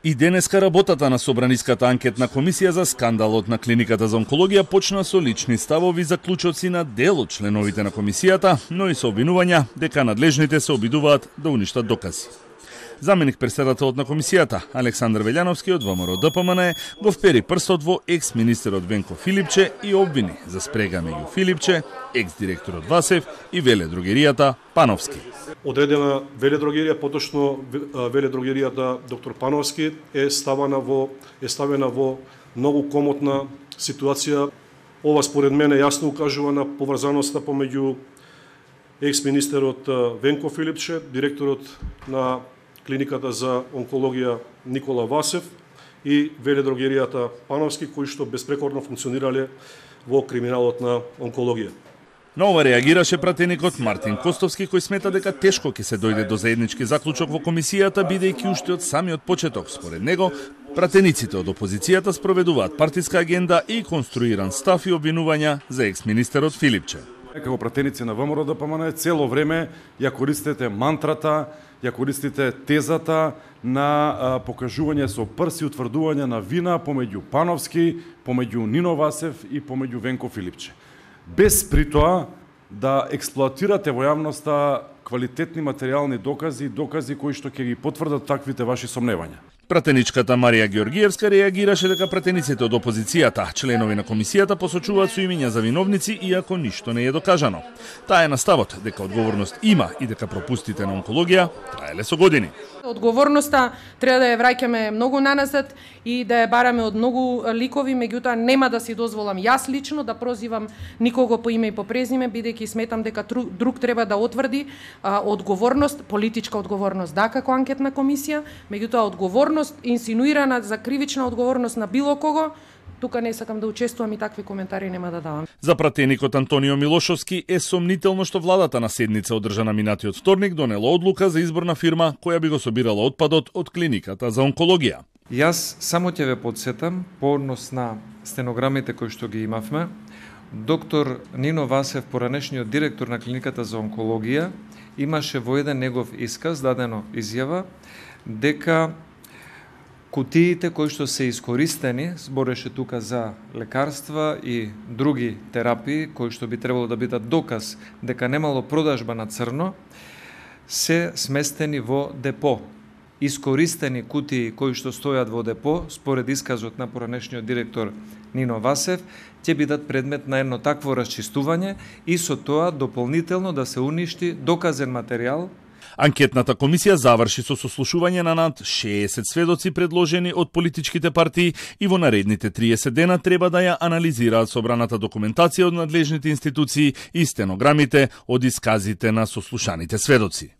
И денеска работата на Собраниската анкетна комисија за скандалот на клиниката за онкологија почна со лични ставови заклучоци на дел од членовите на комисијата, но и со обвинувања дека надлежните се обидуваат да уништат докази. Заменик председателот на комисијата, Александар Велјановски од ВМРО ДПМН, го впери прстот во екс-министерот Венко Филипче и обвини за спрега меѓу Филипче, екс-директорот Васев и веледрогеријата Пановски. Одредена веледрогерија, поточно веледрогеријата доктор Пановски е ставена во многу комотна ситуација. Ова според мене јасно укажува на поврзаноста помеѓу екс-министерот Венко Филипче, директорот на клиниката за онкологија Никола Васев и веледрогеријата Пановски, кои што безпрекорно функционирале во криминалот на онкологија. На ова реагираше пратеникот Мартин Костовски, кој смета дека тешко ќе се дојде до заеднички заклучок во комисијата, бидејќи уште од самиот почеток, според него, пратениците од опозицијата спроведуваат партиска агенда и конструиран став и обвинувања за екс-министерот Филипче. Како пратеници на ВМРО ДПМН цело време ја користите мантрата, ја користите тезата на покажување со прси утврдување на вина помеѓу Пановски, помеѓу Нино Васев и помеѓу Венко Филипче. Без при тоа да експлоатирате во јавноста квалитетни материјални докази кои што ќе ги потврдат таквите ваши сомневања. Пратеничката Марија Георгиевска реагираше дека пратениците од опозицијата, членови на комисијата, посочуваат со имиња за виновници иако ништо не е докажано. Таа е на ставот дека одговорност има и дека пропустите на онкологија траеле со години. Одговорноста треба да ја враќаме многу наназад и да ја бараме од многу ликови, меѓутоа нема да си дозволам јас лично да прозивам никого по име и по презиме, бидејќи сметам дека друг треба да утврди одговорност, политичка одговорност да како анкетна комисија, меѓутоа одговорност инсинуирана за кривична одговорност на било кого, тука не сакам да учествувам и такви коментари нема да давам. За пратеникот Антонио Милошовски е сомнително што владата на седница одржана минатиот вторник донела одлука за избор на фирма која би го собирала отпадот од клиниката за онкологија. Јас само ќе ве подсетам по однос на стенограмите кои што ги имавме. Доктор Нино Васев, поранешниот директор на клиниката за онкологија, имаше во еден негов исказ дадено изјава дека кутиите кои што се искористени, збореше тука за лекарства и други терапии, кои што би требало да бидат доказ дека немало продажба на црно, се сместени во депо. Искористени кутии кои што стојат во депо, според исказот на поранешниот директор Нино Васев, ќе бидат предмет на едно такво расчистување и со тоа дополнително да се уништи доказен материјал. Анкетната комисија заврши со сослушување на над 60 сведоци предложени од политичките партии и во наредните 30 дена треба да ја анализираат собраната документација од надлежните институции и стенограмите од исказите на сослушаните сведоци.